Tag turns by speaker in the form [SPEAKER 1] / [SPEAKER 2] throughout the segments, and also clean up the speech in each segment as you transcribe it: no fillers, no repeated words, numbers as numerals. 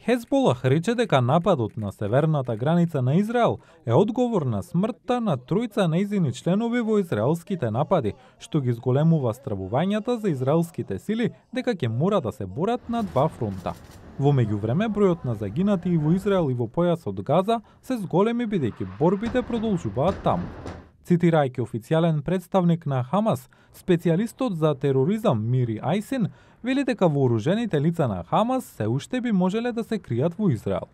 [SPEAKER 1] Хезболах рече дека нападот на северната граница на Израел е одговор на смртта на тројца нејзини членови во израелските напади, што ги зголемува стравувањата за израелските сили дека ќе мора да се борат на два фронта. Во меѓувреме, бројот на загинати и во Израел и во појасот Газа се зголеми бидејќи борбите продолжуваат таму. Цитирајќи официјален представник на Хамас, специјалистот за тероризам Мири Ајсин вели дека вооружените лица на Хамас се уште би можеле да се кријат во Израел.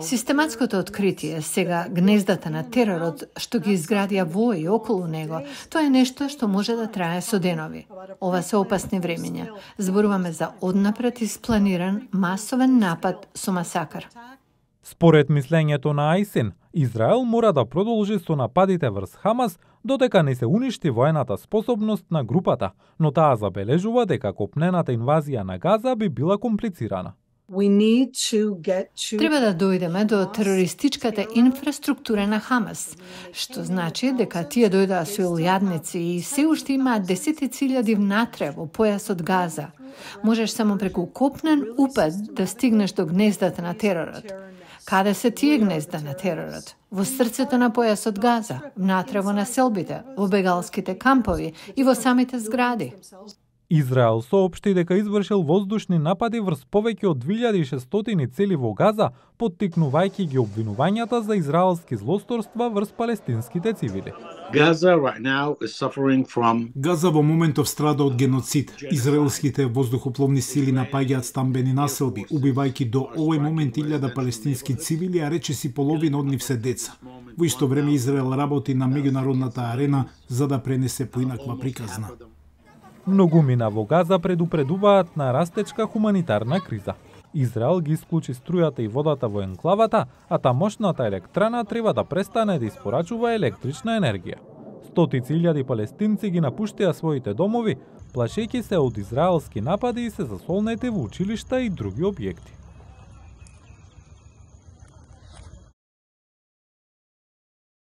[SPEAKER 2] Систематското откритие сега гнездата на теророт што ги изградија во и околу него, тоа е нешто што може да трае со денови. Ова се опасни времења. Зборуваме за однапред испланиран масовен напад со масакар.
[SPEAKER 1] Според мислењето на Ајсин, Израел мора да продолжи со нападите врз Хамас додека не се уништи воената способност на групата, но таа забележува дека копнената инвазија на Газа би била комплицирана.
[SPEAKER 2] Треба да дојдеме до терористичката инфраструктура на Хамас, што значи дека тие дојдоа со илјадници и се уште имаат десетици илјади внатре во појасот Газа. Можеш само преку копнен упад да стигнеш до гнездата на теророт. Каде се тие гнезда на теророт? Во срцето на појасот Газа, внатре во населбите, во бегалските кампови и во самите згради.
[SPEAKER 1] Израел соопшти дека извршил воздушни напади врз повеќе од 2600 цели во Газа, поттикнувајќи ги обвинувањата за израелски злосторства врз палестинските цивили.
[SPEAKER 3] Газа во моментов страда од геноцид. Израелските воздухопловни сили напаѓаат стамбени населби, убивајќи до овој момент 1000 палестински цивили, а речиси половина од нив се деца. Во исто време Израел работи на меѓународната арена за да пренесе поинаква приказна.
[SPEAKER 1] Многумина во Газа предупредуваат на растечка хуманитарна криза. Израел ги исклучи струјата и водата во енклавата, а тамошната електрана треба да престане да испорачува електрична енергија. Стотици илјади палестинци ги напуштија своите домови, плашејќи се од израелски напади и се засолнети во училишта и други објекти.